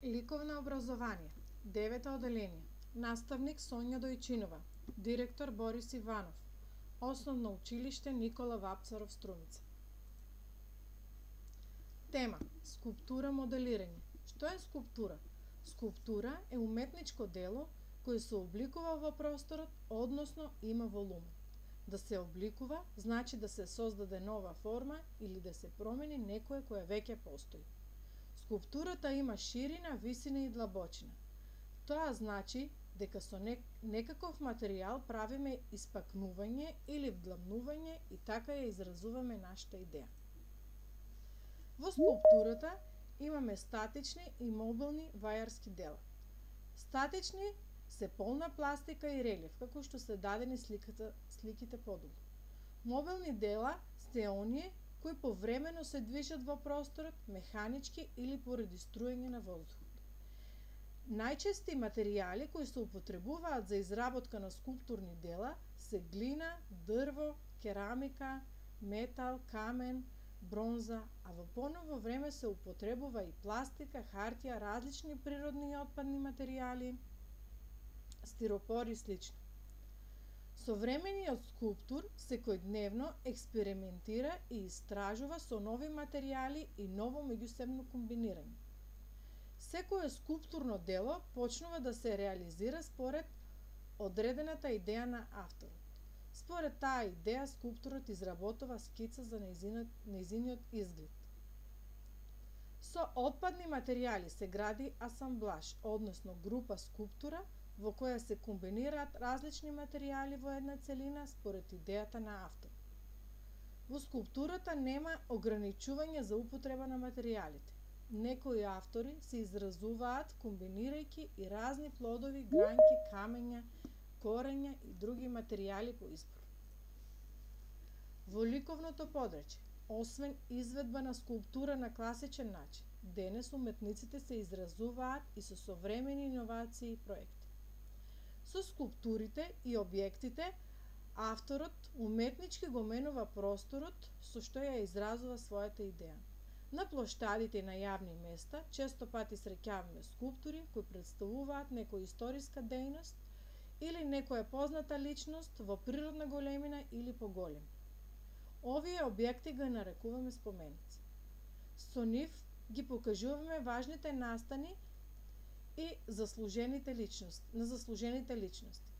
Ликовно образование, 9 оделение. Наставник Сонја Дојчинова, директор Борис Иванов, Основно училиште Никола Вапцаров Струмица. Тема: скулптура моделирање. Што е скулптура? Скулптура е уметничко дело кое се обликува во просторот, односно има волумен. Да се обликува значи да се создаде нова форма или да се промени некое кое веќе постои. Скулптурата има ширина, висина и длабочина. Тоа значи дека со некаков материјал правиме испакнување или вдлабнување и така ја изразуваме нашата идеја. Во скулптурата имаме статични и мобилни вајарски дела. Статични се полна пластика и релјеф, како што се дадени сликите подолу. Мобилни дела се оние кои повремено се движат во просторот, механички или поради струење на воздухот. Најчести материјали кои се употребуваат за изработка на скулптурни дела се глина, дрво, керамика, метал, камен, бронза, а во поново време се употребува и пластика, хартија, различни природни и отпадни материјали, стиропор и слично. Современиот скулптур секојдневно експериментира и истражува со нови материјали и ново меѓусебно комбинирање. Секое скулптурно дело почнува да се реализира според одредената идеја на авторот. Според таа идеја скулпторот изработува скица за нејзиниот изглед. Со отпадни материјали се гради асамблаж, односно група скулптура во која се комбинираат различни материјали во една целина според идејата на автор. Во скулптурата нема ограничување за употреба на материјалите. Некои автори се изразуваат комбинирајќи и разни плодови, гранки, камења, корења и други материјали по избор. Во ликовното подрачје, освен изведба на скулптура на класичен начин, денес уметниците се изразуваат и со современи иновации и проекти. Со скулптурите и објектите, авторот уметнички го менува просторот со што ја изразува својата идеја. На плоштадите и на јавни места често пати среќаваме скулптури кои представуваат некоја историска дејност или некоја позната личност во природна големина или поголем. Овие објекти ги нарекуваме споменици. Со нив ги покажуваме важните настани и заслужените личности.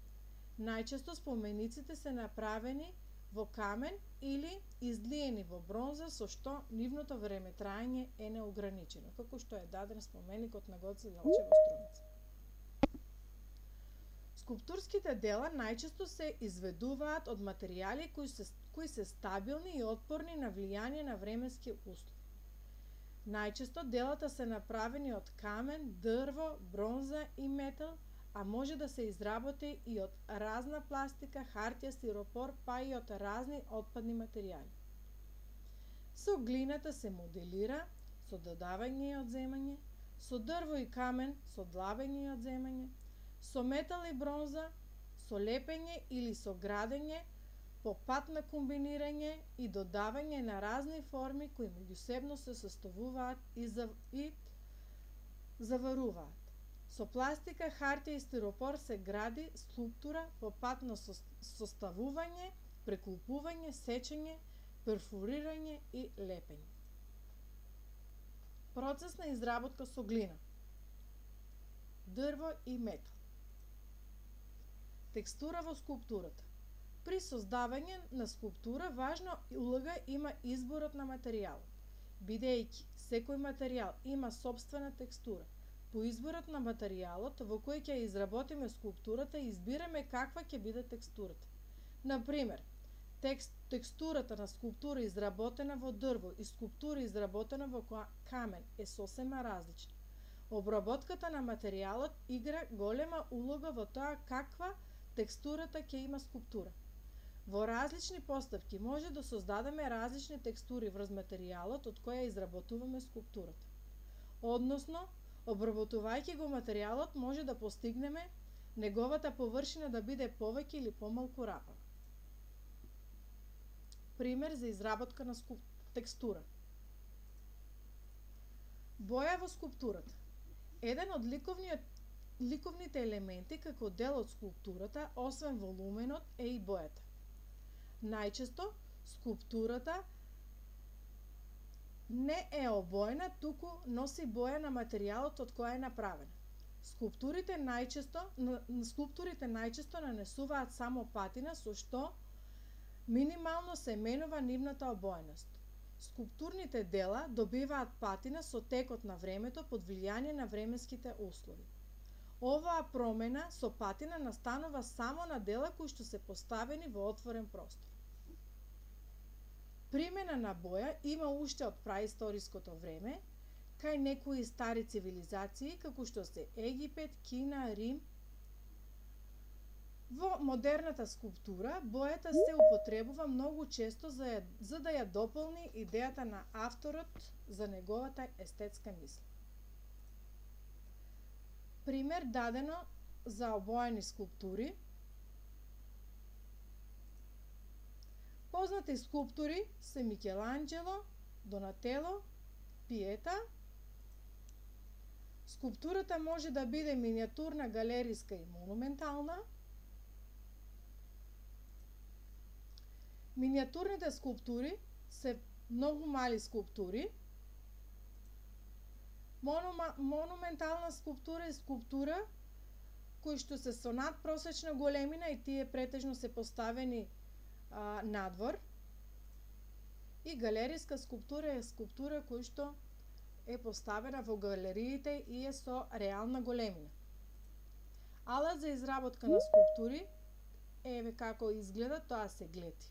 Најчесто спомениците се направени во камен или излиени во бронза, со што нивното времетраење е неограничено, како што е даден споменикот на Гоце Делчев во Струмица. Скулптурските дела најчесто се изведуваат од материјали кои се стабилни и отпорни на влијание на временски услови. Најчесто делата се направени од камен, дрво, бронза и метал, а може да се изработи и од разна пластика, хартија, стиропор, па и од разни отпадни материјали. Со глината се моделира, со додавање и одземање, со дрво и камен, со длабење и одземање, со метал и бронза, со лепење или со градење, по пат на комбинирање и додавање на разни форми кои меѓусебно се составуваат и заваруваат. Со пластика, хартија и стиропор се гради скулптура по пат на составување, прекулпување, сечење, перфорирање и лепење. Процес на изработка со глина, дрво и метал. Текстура во скулптурата. При создавање на скулптура важна улога има изборот на материјал. Бидејќи секој материјал има сопствена текстура, по изборот на материјалот во кој ќе изработиме скулптурата избираме каква ќе биде текстурата. Например, текстурата на скулптура изработена во дрво и скулптура изработена во камен е сосема различна. Обработката на материјалот игра голема улога во тоа каква текстурата ќе има скулптура. Во различни поставки може да создадеме различни текстури врз материјалот од која изработуваме скулптурата. Односно, обработувајќи го материјалот може да постигнеме неговата површина да биде повеќе или помалку рапава. Пример за изработка на текстура. Боја во скулптурата. Еден од ликовните елементи како дел од скулптурата, освен волуменот, е и бојата. Најчесто, скулптурата не е обоена, туку носи боја на материјалот од која е направена. Скулптурите најчесто нанесуваат само патина, со што минимално се менува нивната обоеност. Скулптурните дела добиваат патина со текот на времето под влијание на временските услови. Оваа промена со патина настанува само на дела кои што се поставени во отворен простор. Примена на боја има уште од праисториското време, кај некои стари цивилизации, како што се Египет, Кина, Рим. Во модерната скулптура, бојата се употребува многу често за да ја дополни идејата на авторот за неговата естетска мисла. Пример дадено за обоени скулптури. Познати скулптури се Микеланџело, Донатело, Пиета. Скулптурата може да биде миниатурна, галериска и монументална. Миниатурните скулптури се многу мали скулптури. Монументална скулптура е скулптура кои што се со надпросечна големина и тие претежно се поставени надвор. И галериска скулптура е скулптура која што е поставена во галериите и е со реална големина. Алат за изработка на скулптури, еве како изгледа, тоа се глети.